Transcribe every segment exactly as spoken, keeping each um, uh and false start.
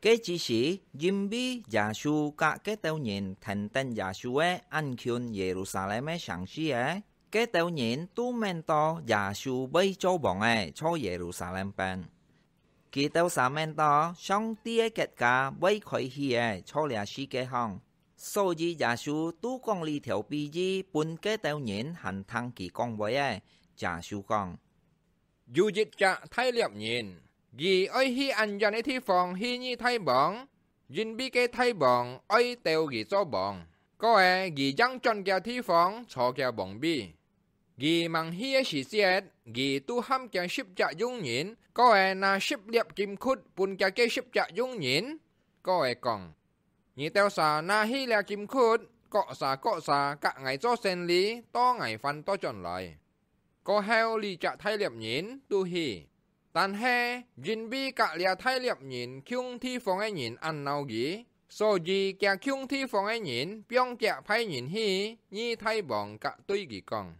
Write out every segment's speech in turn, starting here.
該之時，因為耶穌佮該兜人跈等耶穌个，恁近耶路撒冷个城市仔，該兜人都愐到耶穌會做王仔坐耶路撒冷邊。佢兜儕愐到上帝个國家會開始仔坐這世界項，所以耶穌都講這條比喻分該兜人還聽佢講話仔。耶穌講：有一隻大獵人，佢愛去恁遠个地方去認大王，因為該大王愛鬥佢做王，過仔佢正轉厥地方坐厥王位。佢吂去个時節，佢都喊厥十隻用人，過仔拿十粒金窟分厥該十隻用人，過仔講：你兜儕拿去這金窟，各儕各儕佮𠊎做生理，到𠊎還倒轉來。過後這隻大獵人都去。但係因為佮這大獵人共地方个人恁惱佢，所以厥共地方个人放厥歹人去認大王，佮對佢講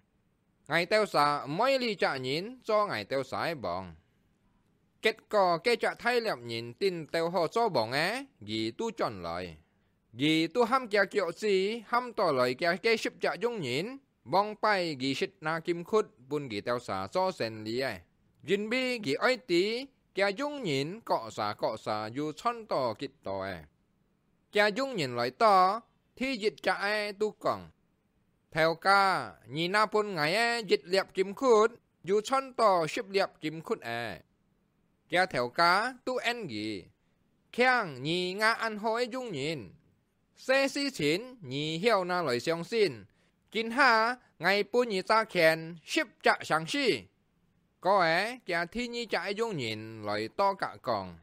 ：𠊎兜儕毋愛這隻人做𠊎兜儕个王。結果該隻大獵人等鬥好做王仔，佢都轉來。佢都喊厥腳子喊到來厥該十隻用人，往擺佢識拿金窟分佢兜儕做生理仔，因為佢愛知厥用人各儕各儕有賺到幾多仔。厥用人來到，第一隻仔都講：頭家，你拿分𠊎个一粒金窟，有賺到十粒金窟仔。厥頭家都應佢：慶你吾恁好个用人，細事情你曉拿來相信，今下𠊎分你差遣十隻城市。過仔，厥第二隻个用人來到，佮講：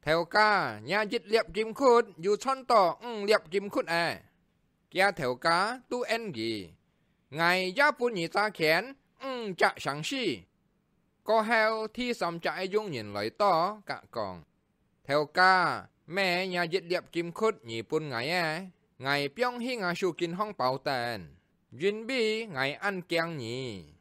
頭家，若一粒金窟有賺到五粒金窟仔。厥頭家都應佢：𠊎也分你差遣五隻城市。過後，第三隻个用人來到，佮講：頭家，乜若一粒金窟你分𠊎个，𠊎放去吾手巾項包等，因為𠊎恁驚你。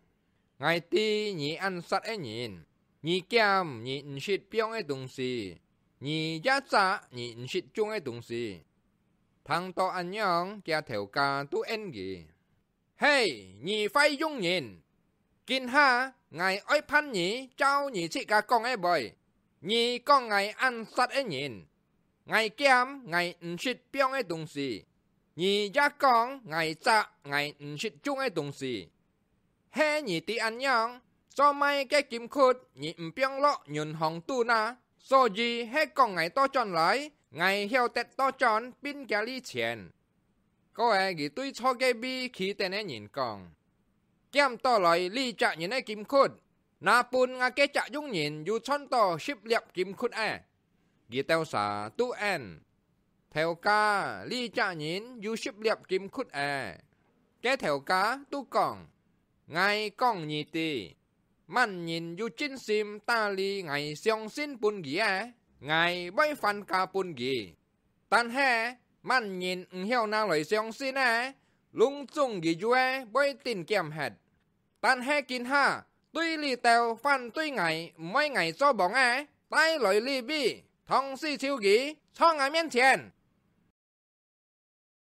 𠊎知你恁煞个人，你撿你毋識放个東西，你也摘你毋識種个東西。聽到恁樣，厥頭家都應佢：係，你壞用人！今下𠊎愛判你照你自家講个話。你講𠊎恁煞个人，𠊎撿𠊎毋識放个東西，你也講𠊎摘𠊎毋識種个東西。係你知恁樣，做麼个金窟你毋放落銀行肚哪？所以係講𠊎倒轉來，𠊎曉得倒轉分厥利錢。過後佢對坐該位企等个人講：撿倒來這隻人个金窟，拿分吾該隻用人有賺到十粒金窟仔。佢兜儕都應：頭家，這隻人有十粒金窟仔。該頭家都講：𠊎講你知，麼人有盡心打理𠊎相信分佢个，𠊎會還價分佢。但係麼人毋曉拿來相信个，攏總佢有个會等撿忒。 但係今下，對這兜反對𠊎、毋愛𠊎做王个，帶來這位，同時抽佢，坐𠊎面前！